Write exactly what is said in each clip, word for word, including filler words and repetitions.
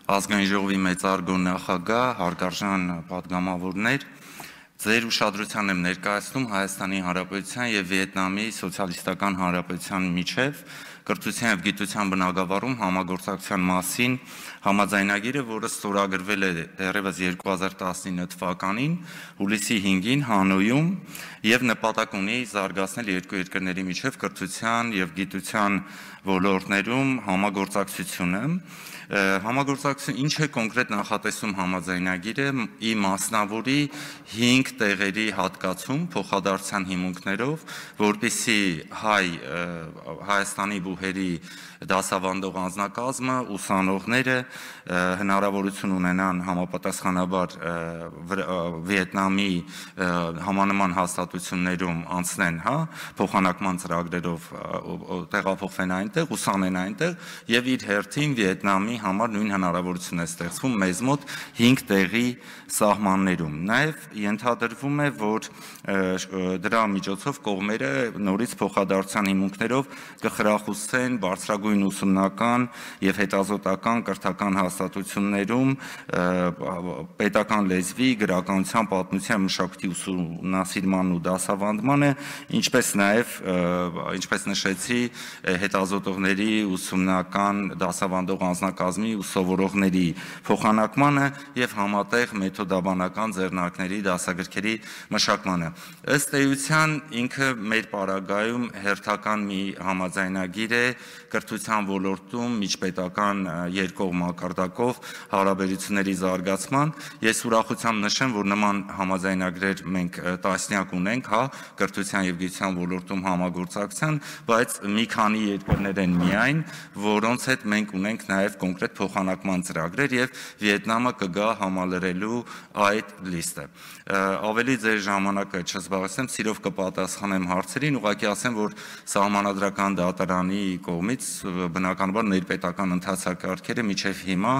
Ազգային ժողովի մեծարգո նախագահ, հարգարժան պատգամավորներ, ձեր ուշադրության եմ ներկայացնում Հայաստանի Հանրապետության եւ Վիետնամի Սոցիալիստական Հանրապետության միջև կրթության եւ գիտության բնագավառում համագործակցության մասին համաձայնագիրը, որը ստորագրվել է դեռևս երկու հազար տասնինը թվականին, հուլիսի հինգին Հանոյում եւ նպատակ ունի զարգացնել երկու երկրների միջև կրթության եւ գիտության ոլորտներում համագործակցությունը։ Համագործակցություն ինչ է կոնկրետ նախատեսում համաձայնագիրը՝ ի մասնավորի հինգ տեղերի հատկացում փոխադարձության հիմունքներով, որպեսզի հայ Հայաստանի բուհերի դասավանդող անձնակազմը, ուսանողները հնարավորություն ունենան համապատասխանաբար Վիետնամի համանման հաստատություններում անցնեն, հա, փոխանակման ծրագրերով տեղափոխվեն այնտեղ, ուսանեն այնտեղ եւ իր հերթին Վիետնամի համար նույն հնարավորություն է ստեղծվում մեզ մոտ հինգ տեղի սահմաններում։ Նաեւ ենթադրվում է, որ դրա միջոցով կողմերը նորից փոխադարձության հիմունքներով կխրախուսեն բարձրագույն ուսումնական եւ հետազոտական կրթական հաստատություններում պետական լեզվի, գրականության, պատմության, մշակույթի ուսումնասիրման ու դասավանդմանը, ինչպես նաեւ ինչպես նշեցի, հետազոտողների ուսումնական դասավանդող անձնակազմի ու սովորողների փոխանակմանը եւ համատեղ մեթոդաբանական ձեռնարկների դասագրքերի մշակմանը։ Ըստ էության ինքը մեր պարագայում հերթական մի համաձայնագիր է կրթության ոլորտում միջպետական երկկողմ մակարդակով հարաբերությունների զարգացման։ Ես ուրախությամբ նշեմ, որ նման համաձայնագրեր մենք տասնյակ ունենք, հա, կրթության եւ գիտության ոլորտում համագործակցության, բայց մի քանի երկրներ են միայն, որոնց հետ մենք ունենք նաեւ կոնկրետ փոխանակման ծրագրեր եւ Վիետնամը կգա համալրելու այդ լիստը։ Ավելի ձեր ժամանակը չզբաղեցնեմ, սիրով կպատասխանեմ հարցերին, ուղղակի ասեմ, որ Սահմանադրական դատարանի կողմից բնականաբար ներպետական ընթացակարգերը միջև հիմա,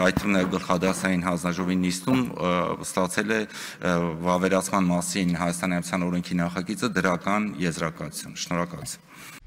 այդ թվում նաեւ գլխադասային հանձնաժողովի նիստում ստացել է վավերացման մասին Հայաստանի Հանրապետության օրենքի նախագիծը դրական եզրակացություն։ Շնորհակալություն։